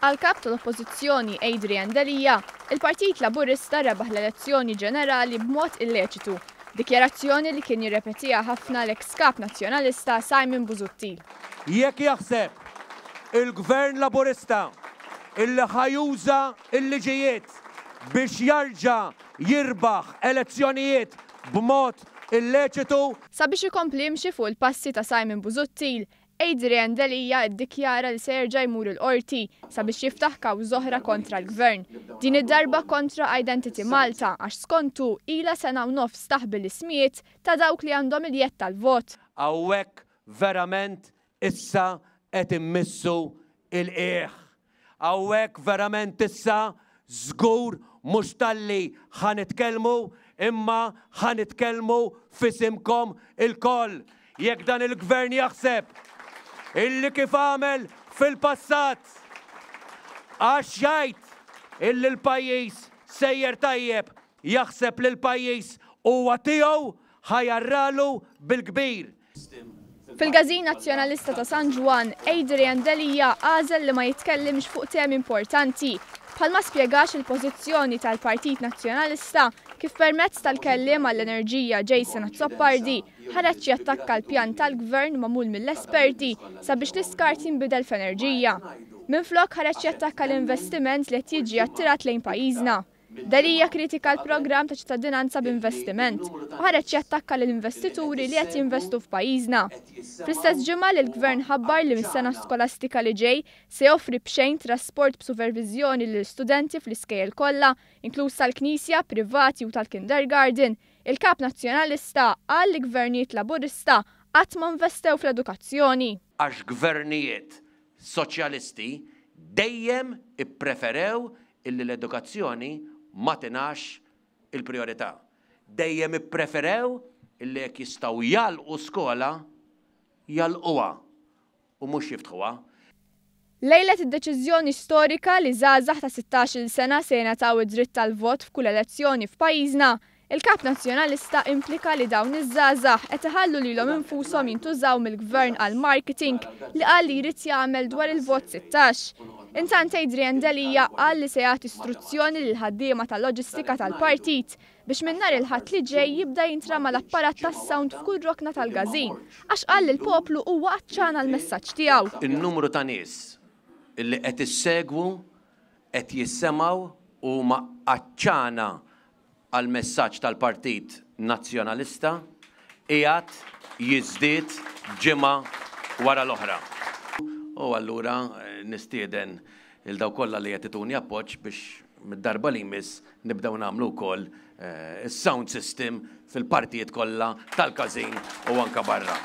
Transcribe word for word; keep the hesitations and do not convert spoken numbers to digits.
Għall-Kap tal-Oppożizzjoni Adrian Delia, il-Partit Laburista rebaħ l-elezzjoni ġenerali b'mod illeċitu, dikjarazzjoni li kien jirrepetiha ħafna l-eks Kap Nazzjonalista Simon Busuttil. Jekk jaħseb il-Gvern Laburista illi ħa juża il-liġijiet biex jarġa' jirbaħ elezzjonijiet b'mod illeċitu. Sabiex ikompli jimxi fuq il-passi ta' Simon Busuttil, Adrian Delia iddikjara li se jerġa' jmur il-qorti sabiex jiftaħ kawża oħra kontra l-Gvern. Din id-darba kontra Identity Malta għax skontu ilha sena u nofs taħbi l-ismijiet ta' dawk li għandhom il-jedd tal-vot. Hawnhekk verament issa qed immissu il-qiegħ. Hawnhekk verament issa żgur mhux talli ħa nitkellmu imma ħa nitkellmu f'isimkom ilkoll. Jekk dan il-gvern jaħseb illi kif għamel fil-passat għax jgħid illi l-pajjiż sejjer tajjeb, jaħseb li l-pajjiż huwa tiegħu, ħa jarralu bil-kbir. Fil-Każin Nazzjonalista ta' San Ġwann, Adrian Delia għażel li ma jitkellimx fuq temi importanti, bħalma spjegax il-pożizzjoni tal-Partit Nazzjonalista kif permezz tal-kelliem għall-enerġija Jason Azzopardi ħareġ jattakka l-pjan tal-gvern magħmul mill-esperti sabiex l-iskart jinbidel f'enerġija. Minflok ħareġ jattakka l-investiment li qed jiġi attirat lejn pajjiżna. Delia kritika l-programm ta' ċittadinanza b'investiment u ħareġ jattakka l-investituri li qed jinvestu f'pajjiżna. Fl-istess ġimgħa li l-gvern ħabbar li mis-sena skolastika li ġej se joffri b'xejn trasport b'superviżjoni lil studenti fl-iskejjel kollha, inkluż tal-Knisja, privati u tal-kindergarten, il-Kap Nazzjonalista qal li gvernijiet Laburista qatt ma investew fl-edukazzjoni. Għax gvernijiet soċjalisti dejjem ippreferew illi l-edukazzjoni ma tingħatax il-priorità. Dejjem ippreferew illi jekk jistgħu jagħlqu skola, jagħlquha u mhux jiftħuha. Lejlet id-deċiżjoni storika li żgħażagħ ta' sittax-il sena se jingħataw id-dritt tal-vot f'kull elezzjoni f'pajjiżna, il-Kap Nazzjonalista implika li dawn iż-żgħażagħ qed iħallu lilhom infushom jintużaw mill-gvern għal marketing li qal li jrid jagħmel dwar il-vot sittax. Intant Adrian Delia qal li se jagħti istruzzjoni lil ħaddiema tal-loġistika tal-partit biex minn nhar il-Ħadd li ġej jibda jintrama l-apparat tas-sound f'kull rokna tal-każin, għax qal li l-poplu huwa għatxan għall-messaġġ tiegħu. In-numru ta' nies illi qed issegwu, qed jissemgħu u huma għatxana għall-messaġġ tal-Partit Nazzjonalista qiegħed jiżdied ġimgħa wara l-oħra. U allura nistieden il dawk kollha li qed ituni appoġġ biex mid-darba li jmiss nibdew nagħmlu wkoll is-sound system fil-partijiet kollha tal-każin u anke barra.